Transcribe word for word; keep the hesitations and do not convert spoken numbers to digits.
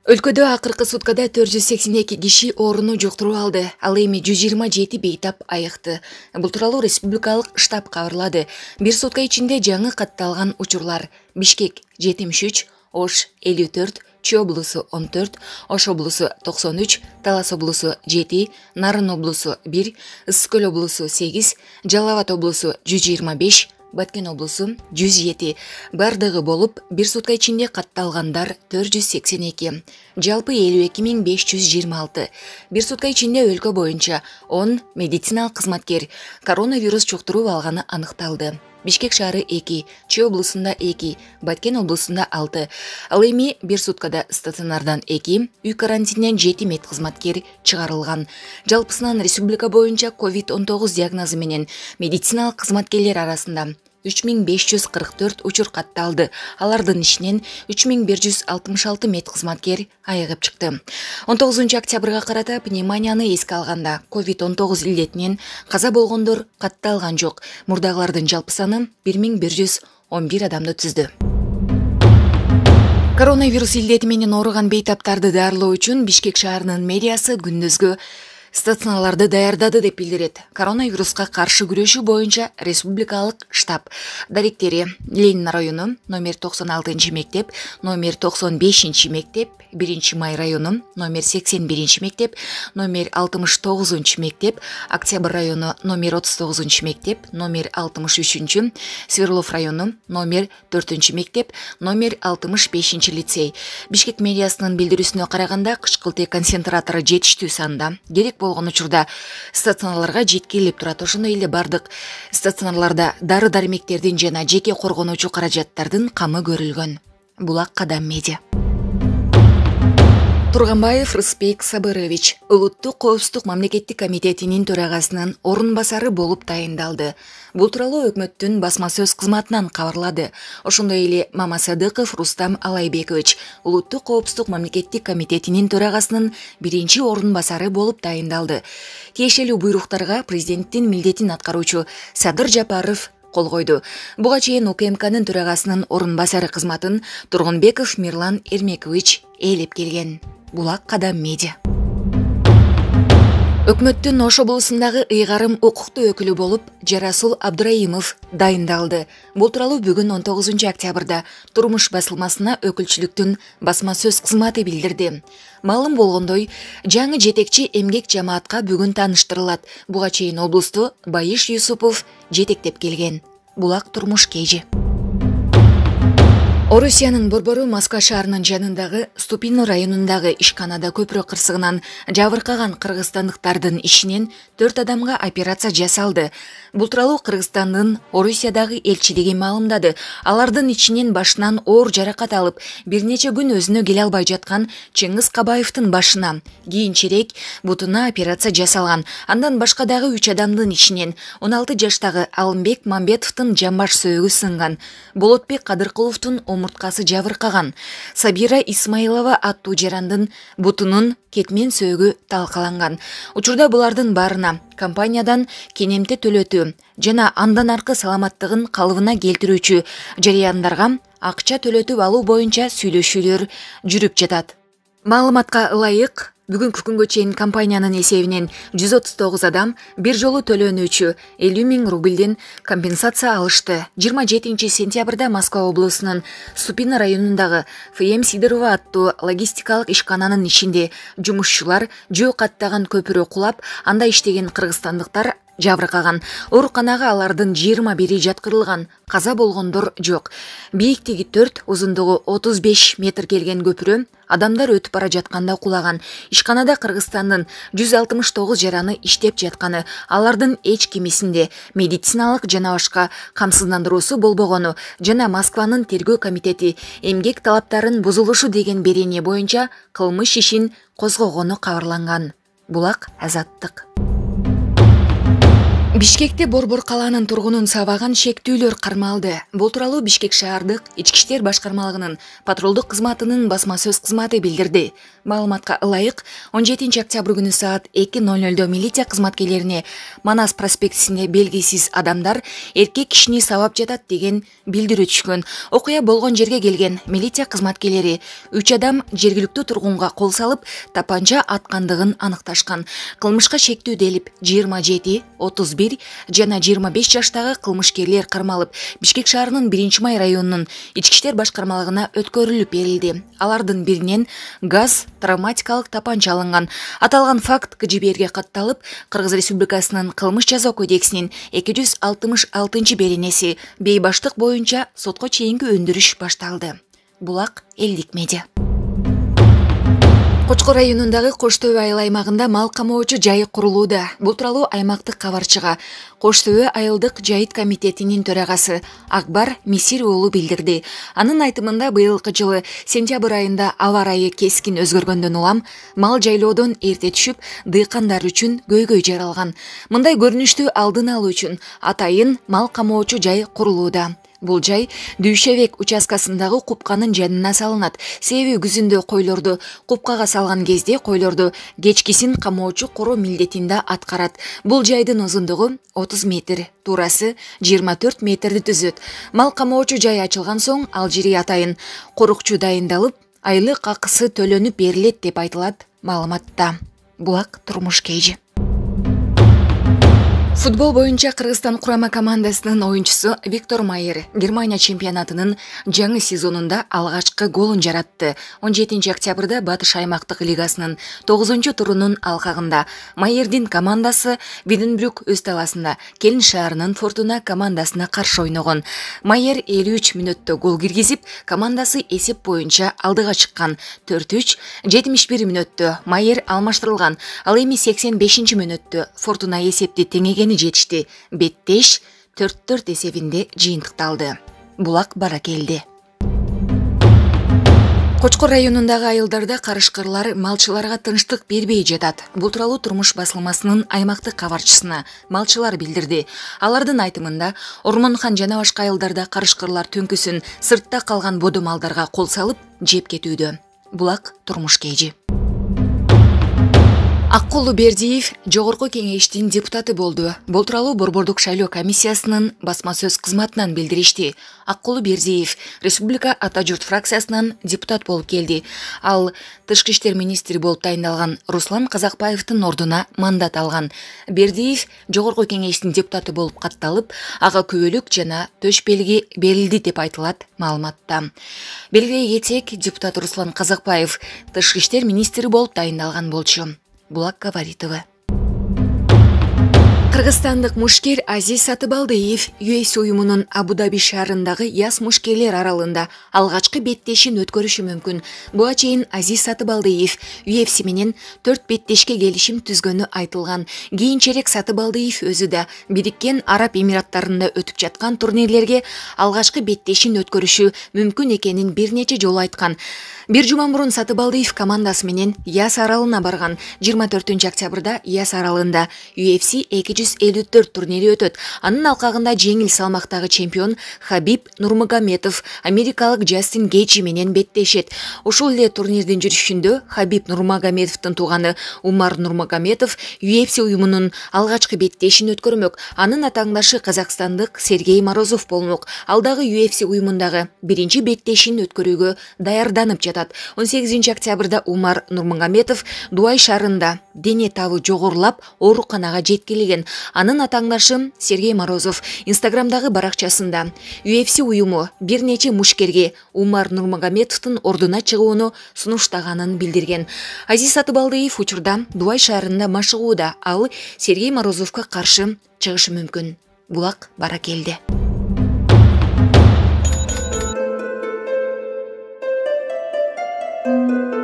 Өлкөдө акыркы суткада төрт жүз сексен эки киши ооруну жуктуруп алды. Ал эми жүз жыйырма жети бейтап айыкты. Бул тууралуу республикалык штаб кабарлады. Бир сутка ичинде жаңы катталган учурлар: Бишкек жетимиш үч, Ош элүү төрт, Чүй облусу он төрт, Ош облусу токсон үч, Талас облусу жети, Нарын облусу бир, Ысык көл облусу сегиз, Жалал Абад облусу жүз жыйырма беш, Баткен облусу жүз жети. Бардыгы болуп, бир сутка ичинде катталгандар төрт жүз сексен эки. Жалпы элүү эки миң беш жүз жыйырма алты. Бир сутка ичинде өлкө боюнча он медициналык кызматкер коронавирус жуктуруп алганы аныкталды. Бишкек шаары эки, Чүй облусунда эки, Баткен облусунда алты. Ал эми бир суткада стационардан эки, үй карантининен жети медкызматкер чыгарылган. Жалпысынан республика боюнча ковид он тогуз диагнозу менен медициналык кызматкерлер арасында үч миң беш жүз кырк төрт учур катталды. Алардын ичинен үч миң бир жүз алтымыш алты медкызматкер айыгып чыкты. он тогузунчу октябрга карата пневмонияны эске алганда ковид он тогуз илдетинен каза болгондор катталган жок. Мурдагылардын жалпы саны бир миң бир жүз он бир адамды түздү. Коронавирус илдети менен ооруган бейтаптарды даарылоо үчүн Бишкек шаарынын мэриясы күндүзгү стационарларды даярдады деп билдирет. Коронавируска каршы күрөшүү боюнча республикалык штаб. Даректери: Ленин району номер токсон алтынчы мектеп, номер токсон бешинчи мектеп, биринчи май району номер сексен биринчи мектеп, номер алтымыш тогузунчу мектеп, Октябрь району номер отуз тогузунчу мектеп, номер алтымыш үчүнчү, Сверлов району номер төртүнчү мектеп, номер алтымыш бешинчи лицей. Бишкек мэриясынын билдирүүсүнө караганда, кычкылтек концентратору жетиштүү санда керек болгон учурда стационарларга жеткирилип турат. Ошондой эле бардык стационарларда дары дармектердин жана жеке коргонуучу каражаттардын камы көрүлгөн. Булак Кадам медиа. Турганбаев Рыспек Сабырович Улуттук коопсуздук мамлекеттик комитетинин төрагасынын орун басары болуп тайындалды. Бул тууралуу өкмөттүн басма сөз кызматынан кабарлады. Ошондой эле Мамасадыков Рустам Алайбекович Улуттук коопсуздук мамлекеттик комитетинин төрагасынын биринчи орун басары болуп тайындалды. Тиешелүү буйруктарга президенттин милдетин аткаруучу Садыр Жапаров кол койду. Буга чейин УКМКнын төрагасынын орун басары кызматын Тургунбеков Мирлан Эрмекович ээлеп келген. Булак Кадам медиа. Өкмөттүн Ош облусундагы ыйгарым укуктуу өкүлү болуп Жарасул Абдраимов дайындалды. Бул тууралуу бүгүн он тогузунчу октябрда Турмуш басылмасына өкүлчүлүктүн басма сөз кызматы билдирди. Маалым болгондой, жаңы жетекчи эмгек жамаатка бүгүн тааныштырылат. Буга чейин облусту Байыш Юсупов жетектеп келген. Булак Турмуш Кежи. Орусиянын борбору Москва шаарынын жанындагы Ступино районундагы ишканада көпүрө кырсыгынан жабыркаган кыргызстандыктардын ишинен төрт адамга операция жасалды. Бул тууралуу Кыргызстандын Орусиядагы элчилиги маалымдады. Алардын ичинен башынан оор жаракат алып, бир нече күн өзүнө келе албай жаткан Чыңгыз Кабаевдин башына, кийинчерээк бутуна операция жасалган. Андан башка дагы үч адамдын ичинен он алты жаштагы Алымбек Мамбетовдун жамбаш сөөгү сынган, Болотбек Кадыркуловдун омурткасы жабыркаган, Сабира Исмаилова аттуу жарандын бутунун кетмен сөөгү талкаланган. Учурда булардын баарына компаниядан кенемте төлөтүү жана андан аркы саламаттыгын калыбына келтирүүчү жарыяндарга акча төлөтүп алуу боюнча сүйлөшүүлөр жүрүп жатат. Маалыматка ылайык, бүгүнкү күнгө чейин компаниянын эсебинен жүз отуз тогуз адам бир жолу төлөнүүчү элүү миң рубльден компенсация алышты. жыйырма жетинчи сентябрда Москва облусунун Ступино районундагы Ф М Сидорова аттуу логистикалык ишкананын ичинде жумушчулар жөө каттаган көпүрө кулап, анда иштеген кыргызстандыктар жабыркаган. Ооруканага алардын жыйырма бири жаткырылган. Каза болгондор жок. Бийиктиги төрт, узундугу отуз беш метр келген көпүрө адамдар өтүп бара жатканда кулаган. Ишканада Кыргызстандын жүз алтымыш тогуз жараны иштеп жатканы, алардын эч кимисинде медициналык жана башка камсыздандыруусу болбогону жана Москванын тергөө комитети эмгек талаптарын бузулушу деген берене боюнча кылмыш ишин козгогону кабарланган. Булак Азаттык. Бишкекте Борбор калаанын тургунун сабаган шектүүлөр кармалды. Бул тууралуу Бишкек шаардык Ички иштер башкармалыгынын патрулдук кызматынын басма сөз кызматы билдирди. Маалыматка ылайык, он жетинчи октябрь күнү саат эки ноль нольдо милиция кызматкерлерине Манас проспектисинде белгисиз адамдар эркек кишини сабап жатат деген билдирүү түшкөн. Окуя болгон жерге келген милиция кызматкерлери үч адам жергиликтүү тургунга кол салып, тапанча аткандыгын аныкташкан. Кылмышка шектүү делип жыйырма жети, отуз бир жана жыйырма беш жаштагы кылмышкерлер кармалып, Бишкек шаарынын биринчи май районунун Ички иштер башкармалыгына өткөрүлүп берилди. Алардын биринен газ травматикалык тапанча алынган. Аталган факт К Ж Б Рге катталып, Кыргыз Республикасынын Кылмыш жаза кодексинин эки жүз алтымыш алтынчы беренеси бейбаштык боюнча сотко чейинки өндүрүш башталды. Булак элдик медиа. Кочкор районундагы Кош Төбө айыл аймагында мал камоочу жайы курулууда. Бул тууралуу аймактык кабарчыга Кош Төбө айылдык жайыт комитетинин төрагасы Акбар Мисир уулу билдирди. Анын айтымында быйылкы жылы сентябрь айында аба ырайы кескин өзгөргөндөн улам мал жайлоодон эрте түшүп, дыйкандар үчүн көйгөй жаралган. Мындай көрүнүштү алдын алуу үчүн атайын мал камоочу жай курулууда. Бул жай Дүйшебек участкасындагы купканын жанына салынат. Себеби күзүндө койлорду купкага салган кезде койлорду кечкисин камоочу короо милдетинде аткарат. Бул жайдын узундугу отуз метр, туурасы жыйырма төрт метрди түзөт. Мал камоочу жай ачылган соң ал жери атайын корукчу дайындалып, айлык акысы төлөнүп берилет деп айтылат маалыматта. Булак турмуш кейжи. Футбол боюнча Кыргызстан курама командасынын оюнчусу Виктор Майер Германия чемпионатынын жаңы сезонунда алгачкы голун жаратты. он жетинчи октябрда Батыш аймактык лигасынын тогузунчу турунун алкагында Майердин командасы Виденбрюк өз таласында Келин шаарынын Фортуна командасына каршы ойногон. Майер элүү үч мүнөттө гол киргизип, командасы эсеп боюнча алдыга чыккан. төрт үч жетимиш бир мүнөттө Майер алмаштырылган. Ал эми сексен бешинчи мүнөттө Фортуна эсепти теңегени жетишти. Беттеш төрт төрт эсебинде жыйынтыкталды. Булак баракелди. Кочкор районундагы айылдарда карышкырлар малчыларга тынчтык бербей жатат. Бул тууралуу Турмуш басылмасынын аймактык кабарчысына малчылар билдирди. Алардын айтымында Ормонхан жана башка айылдарда карышкырлар түнкүсүн сыртта калган бодо малдарга кол салып жеп кетүүдө. Булак турмуш кейжи. Аккулу Бердиев жогорку кеңештин депутаты болду. Бул тууралуу Борбордук шайлоо комиссиясынын басма сөз кызматынан билдиришти. Аккулу Бердиев Республика Ата журт фракциясынан депутат болуп келди. Ал тышкы иштер министри болуп тайындалган Руслан Казакбаевдин ордуна мандат алган. Бердиев жогорку кеңештин депутаты болуп катталып, ага күбөлүк жана төш белги берилди деп айтылат маалыматта. Белгилей кетсек, депутат Руслан Казакбаев тышкы иштер министри болуп тайындалган болчу. Булак Гаваритова. Кыргызстандык мушкер Азиз Сатыбалдыев ю эф си уюмунун Абу-Даби шаарындагы яс мушкерлер аралыгында алгачкы беттешин өткөрүшү мүмкүн. Буга чейин Азиз Сатыбалдыев ю эф си менен төрт беттешке келишим түзгөнү айтылган. Кийинчерээк Сатыбалдыев өзү да Бириккен Араб Эмираттарында өтүп жаткан турнирлерге алгачкы беттешин өткөрүшү мүмкүн экенин бир нече жолу айткан. Бир жума мурун Сатыбалдыев командасы менен Яс аралына барган. жыйырма төртүнчү октябрда Яс аралында ю эф си эки жүз элүү төрт турнири өтөт. Анын алкагында жеңил салмактагы чемпион Хабиб Нурмагомедов америкалык Джастин Гейджи менен беттешет. Ушул эле турнирдин жүрүшүндө Хабиб Нурмагомедовдун тууганы Умар Нурмагомедов ю эф си уюмунун алгачкы беттешин өткөрмөк. Анын атааңдашы казакстандык Сергей Морозов болмок. Ал дагы ю эф си уюмундагы биринчи беттешин өткөрүүгө даярданып жатат. он сегизинчи октябрда Умар Нурмагомедов Дуай шаарында дене табы жогорулап ооруканага жеткирилген. Анын атааңдашы Сергей Морозов Инстаграмдагы баракчасында ю эф си уюму бир нече мушкерге Умар Нурмагомедовдун ордуна чыгууну сунуштаганын билдирген. Азиз Сатыбалдыев учурда Дуай шаарында машыгууда. Ал Сергей Морозовго каршы чыгышы мүмкүн. Булак баракелди. Thank you.